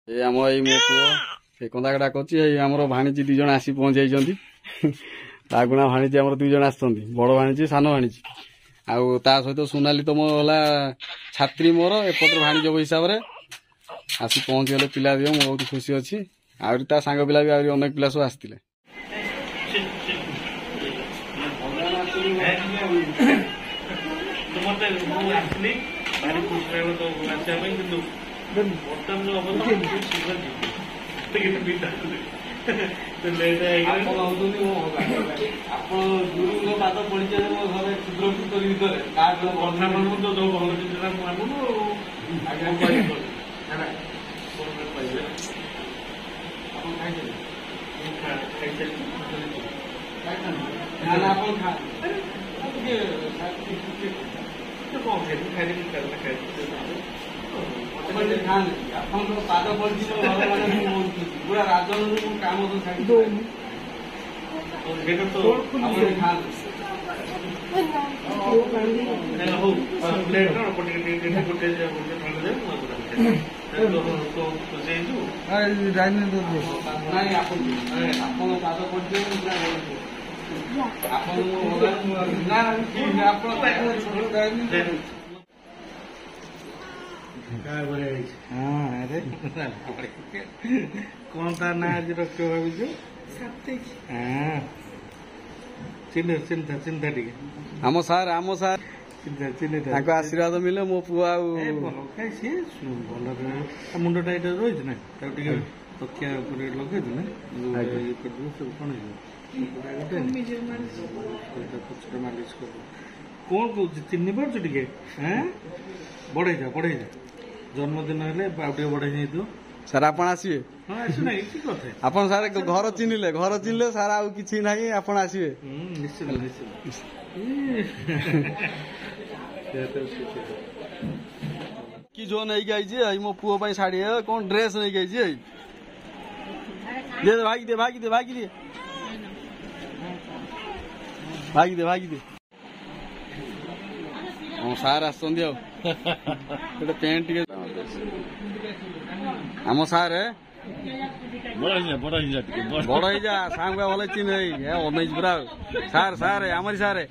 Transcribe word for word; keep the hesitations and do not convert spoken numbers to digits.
ଏ ଆମ ଏଇ ମୋ ପୁଅ ସେ କନ୍ଦା କରୁଛି। ଏଇ ଆମର ଭାଣିଜୀ ଦି ଜଣ ଆସି ପହଞ୍ଚି ଯାଇଛନ୍ତି। ରାଗୁଣା ଭାଣିଜୀ ଆମର ଦୁଇ ଜଣ ଆସିଛନ୍ତି, ବଡ଼ ଭାଣିଜୀ, ସାନ ଭାଣିଜୀ। ଆଉ ତା ସହିତ ସୋନାଲି ତ ମୋ ହେଲା ଛାତ୍ରୀ ମୋର, ଏପଟରେ ଭାଣିଜ ହିସାବରେ ଆସି ପହଞ୍ଚିଗଲେ ପିଲା ଦିଅ। ମୁଁ ବହୁତ ଖୁସି ଅଛି। ଆହୁରି ତା ସାଙ୍ଗ ପିଲା ବି ଆହୁରି ଅନେକ ପିଲା ସବୁ ଆସିଥିଲେ। ମତେ ମୁଁ ଆସିଲି, ଭାରି ଖୁସି ଲାଗିଲା ତ ଆସିବା ପାଇଁ, କିନ୍ତୁ ବର୍ତ୍ତମାନ ଯୋଉ ଅବସ୍ଥା, ଶୀଘ୍ର ଯିବି। ଲେଟ୍ ହେଇଗଲାଣି। ଆପଣ ହଉଛନ୍ତି ମୋ ଭଗବାନ। ଆପଣ ଗୁରୁଙ୍କ ପାଦ ପଡ଼ିছে ମୋ ଘରେ କ୍ଷୁଦ୍ର ଭିତରେ ଭିତରେ। କଥା ମାନୁ ତ, ଯୋଉ ଭଲ ଜିନିଷଟା ମୁଁ ଆଣିବୁ ଆଉ ଆଜ୍ଞା କହିବି ହେଲା। କଣ କହିବେ? ଆପଣ ଖାଇଛନ୍ତି? ମୁଁ ଖାଇସାରିଛି। ନା ନା, ଆପଣ ଖାଆନ୍ତୁ ଟିକେ। କଣ ଖାଇବି? ଖାଇଦେବି, ଖାଇବି। ଆପଣ ଟିକେ ଖାଆନ୍ତୁ। ଆପଣଙ୍କର ପାଦ ପଡ଼ିଛି ମୋ ଘରେ, ମାନେ ମୁଁ ବହୁତ ଖୁସି। ପୁରା ରାଜନରୁ ମୁଁ କାମ ସବୁ ଛାଡ଼ି ସେଇଟା ତ ଆପଣ ଟିକେ ଖାଆନ୍ତୁ। ହଉ, ପ୍ଲେଟ୍ ଅଳ୍ପ ଟିକେ ଟିକେ, ଗୋଟେ ଗୋଟେ ଖଣ୍ଡ ଦେ। ମୁଁ ତୁ ଖୁସି ହେଇଛୁ? ନାଇଁ, ଆପଣ ଆପଣଙ୍କ ପାଦ ପଡ଼ିଛି, ମୁଁ ପୁରା ବହୁତ ଖୁସି। ଆପଣ ମୋ ଭଗବାନ। ନା ଆପଣ ବଢିଆ ହେଇଛି। ହଁ, ଆରେ କଣ ତା ନାଁ ଆଜି ରଖିବ ଭାବିଛୁ? ହଁ, ଚିହ୍ନ, ଚିନ୍ତା ଚିନ୍ତା ଟିକେ। ଆମ ସାର୍, ଆମ ସାର୍ ଚିନ୍ତା ଚିନ୍ତା। ତାଙ୍କ ଆଶୀର୍ବାଦ ମିଳିଲେ ମୋ ପୁଅ ଆଉ ଭଲ। କାଇଁ, ସିଏ ଭଲ। ମୁଣ୍ଡଟା ଏଇଟା ରହିଛି ନା, ତାକୁ ଟିକେ ତକିଆ ଉପରେ ଲଗେଇଦେଲେ, ଇଏ କରିଦେଲେ, ସବୁ କଣ ହେଇଯିବ। ପଛରେ ମାଲିସ କରିଦେବ। କଣ କହୁଛି, ଚିହ୍ନି ପାରୁଛୁ ଟିକେ? ଏଁ, ବଢେଇ ଯା, ବଢେଇ ଯା। ଜନ୍ମଦିନ ହେଲେ ଆଉ ଟିକେ ବଢେଇ ଯାଇଥିବ। ସାର୍, ଆପଣ ଆସିବେ? ହଁ, ଆସୁନାହିଁ କି କଥା। ଆପଣ ସାର୍ ଘର ଚିହ୍ନିଲେ, ଘର ଚିହ୍ନିଲେ ସାର୍, ଆଉ କିଛି ନାହିଁ। ଆପଣ ଆସିବେ? ନିଶ୍ଚିତ ନିଶ୍ଚିତ। କି ଯୋଉ ନେଇକି ଆଇଛି ଏଇ ମୋ ପୁଅ ପାଇଁ ଶାଢୀ, କଣ ଡ୍ରେସ ନେଇକି ଆଇଛି। ଏଇ ଦେ, ଭାଗି ଦେ, ଭାଗି ଦେ, ଭାଗି ଦେ, ଭାଗି ଦେ, ଭାଗି ଦେ। ହଁ, ସାର୍ ଆସିଛନ୍ତି। ଆଉ ଗୋଟେ ପ୍ୟାଣ୍ଟ ଟିକେ ଆମ ସାର୍। ବଡ ହେଇଯା, ବଡ ହେଇଯା, ଟିକେ ବଡ ହେଇଯା। ସାଙ୍ଗ ଭଲ ଚିହ୍ନ ଅନେଇଛି ପୁରା। ସାର୍, ସାର୍, ଆମରି ସାର୍।